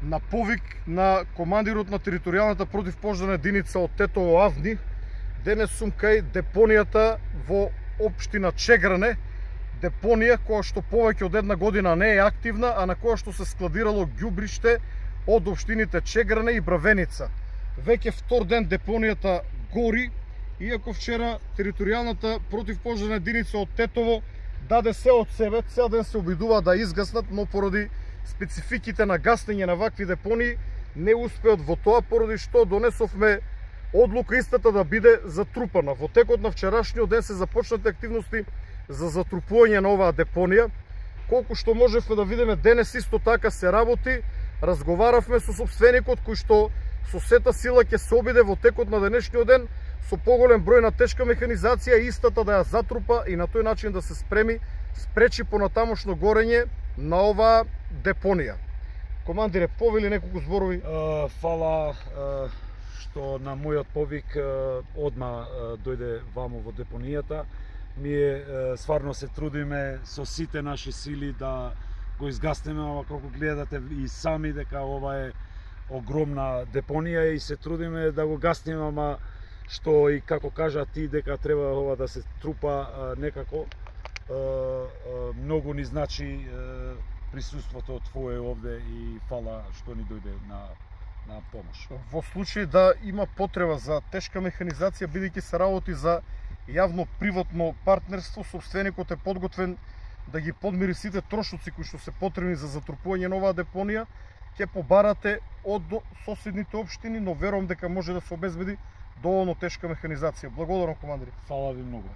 на повик на командирот на територијалната противпожарна единица од Тетово Авни, денес сум кај депонијата во општина Чегране, депонија која што повеќе од една година не е активна, а на која што се складирало ѓубриште од општините Чегране и Бравеница. Веќе втор ден депонијата гори, иако вчера територијалната противпожарна единица од Тетово даде се од себе, цел ден се обидува да изгаснат, но поради спецификите на гаснење на вакви депонии не успеат во тоа, поради што донесовме одлука истата да биде затрупана. Во текот на вчерашниот ден се започнати активности за затрупување на оваа депонија. Колку што можевме да видиме денес исто така се работи, разговаравме со сопственикот кој што со сета сила ќе се обиде во текот на денешниот ден со поголем број на тешка механизација истата да ја затрупа и на тој начин да се спречи понатамошно горење на оваа депонија. Командире, повели неколку зборови? Фала што на мојот повик одма дојде вамо во депонијата. Ние стварно се трудиме со сите наши сили да го изгаснеме, ама како гледате и сами дека ова е огромна депонија и се трудиме да го гаснеме, ама што и како кажа ти дека треба ова да се трупа некако, многу ни значи присуството твое овде и фала што ни дојде на помош. Во случај да има потреба за тешка механизација, бидејќи се работи за јавно-приватно партнерство, сопственикот е подготвен да ги подмири сите трошоци кои што се потребни за затрупување на оваа депонија, ќе побарате од соседните општини, но верувам дека може да се обезбеди доволно тешка механизација. Благодарам, командири. Фала ви многу.